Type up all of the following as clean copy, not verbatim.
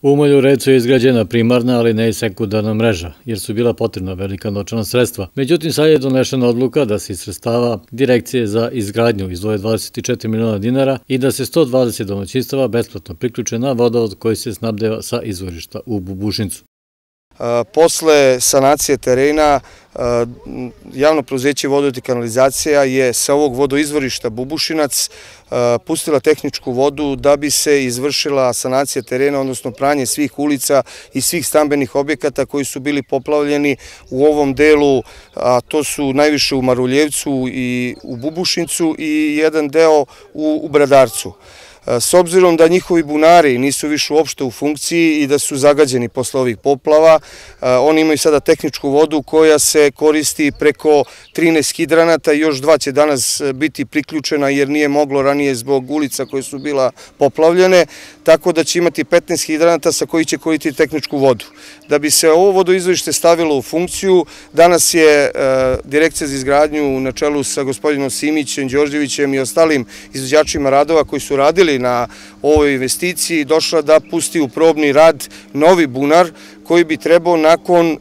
U Maljurevcu je izgrađena primarna, ali ne i sekundarna mreža, jer su bila potrebna velika novčana sredstva. Međutim, sad je donešena odluka da se iz sredstava Direkcije za izgradnju izdvoje 24 miliona dinara i da se 120 domaćinstava besplatno priključe na vodovod koji se snabdeva sa izvorišta u Bubušincu. Posle sanacije terena, javno preduzeće Vodovod i kanalizacija je sa ovog vodoizvorišta Bubušinac pustila tehničku vodu da bi se izvršila sanacija terena, odnosno pranje svih ulica i svih stambenih objekata koji su bili poplavljeni u ovom delu, a to su najviše u Maruljevcu i u Bubušincu i jedan deo u Bradarcu. S obzirom da njihovi bunari nisu više uopšte u funkciji i da su zagađeni posle ovih poplava, oni imaju sada tehničku vodu koja se koristi preko 13 hidranata i još 2 će danas biti priključena jer nije moglo ranije zbog ulica koje su bila poplavljene, tako da će imati 15 hidranata sa koji će koristiti tehničku vodu. Da bi se ovo vodoizvorište stavilo u funkciju, danas je Direkcija za izgradnju na čelu sa gospodinom Simićem, Đorđevićem i ostalim izvođačima radova koji su radili na ovoj investiciji došla da pusti u probni rad novi bunar koji bi trebao nakon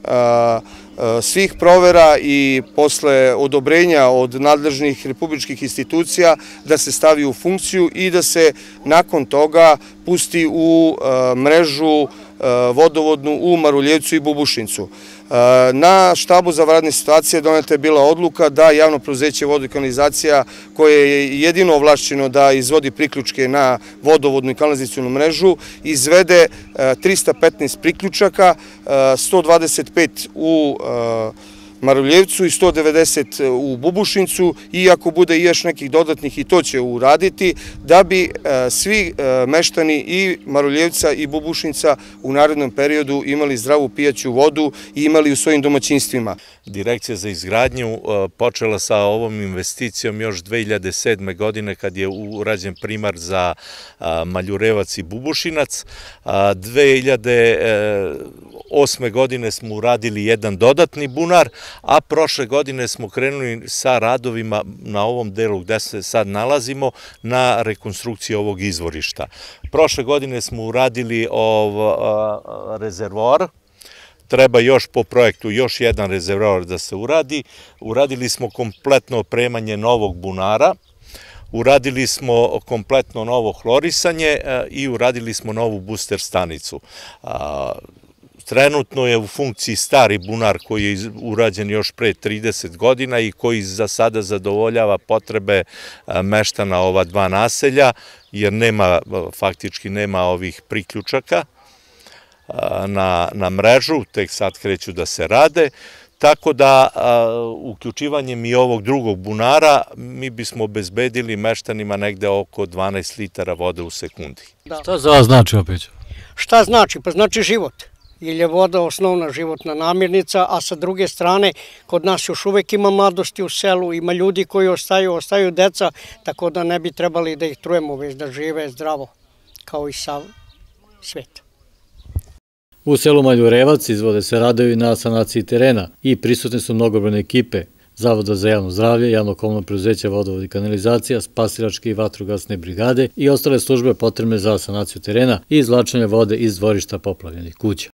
svih provera i posle odobrenja od nadležnih republičkih institucija da se stavi u funkciju i da se nakon toga pusti u mrežu vodovodnu u Maruljevcu i Bubušincu. Na štabu za vanredne situacije doneta je bila odluka da javno preduzeće Vodovod i kanalizacija, koje je jedino ovlašćeno da izvodi priključke na vodovodnu i kanalizacionu mrežu, izvede 315 priključaka, 125 u Maruljevcu i 190 u Bubušincu i ako bude još nekih dodatnih i to će uraditi da bi svi meštani i Maruljevca i Bubušinca u narednom periodu imali zdravu pijaću vodu i imali u svojim domaćinstvima. Direkcija za izgradnju počela sa ovom investicijom još 2007. godine kad je urađen primar za Maljurevac i Bubušinac. 2008. godine smo uradili jedan dodatni bunar, a prošle godine smo krenuli sa radovima na ovom delu gde se sad nalazimo na rekonstrukciju ovog izvorišta. Prošle godine smo uradili rezervoar, treba još po projektu još jedan rezervoar da se uradi. Uradili smo kompletno opremanje novog bunara, uradili smo kompletno novo hlorisanje i uradili smo novu booster stanicu. Trenutno je u funkciji stari bunar koji je urađen još pre 30 godina i koji za sada zadovoljava potrebe meštana ova dva naselja, jer faktički nema ovih priključaka na mrežu, tek sad kreću da se rade, tako da uključivanjem i ovog drugog bunara mi bismo obezbedili meštanima negde oko 12 litara vode u sekundi. Šta za vas znači opet? Šta znači? Pa znači život. Jer je voda osnovna životna namirnica, a sa druge strane kod nas još uvek ima mladosti u selu, ima ljudi koji ostaju deca, tako da ne bi trebali da ih trujemo, već da žive zdravo, kao i sav svet. U selu Maljurevac izvode se radovi na sanaciji terena i prisutne su mnogobrojne ekipe Zavoda za javno zdravlje, javno-komunalno preduzeće Vodovod i kanalizacija, spasilačke i vatrogasne brigade i ostale službe potrebne za sanaciju terena i izvlačenje vode iz dvorišta poplavljenih kuća.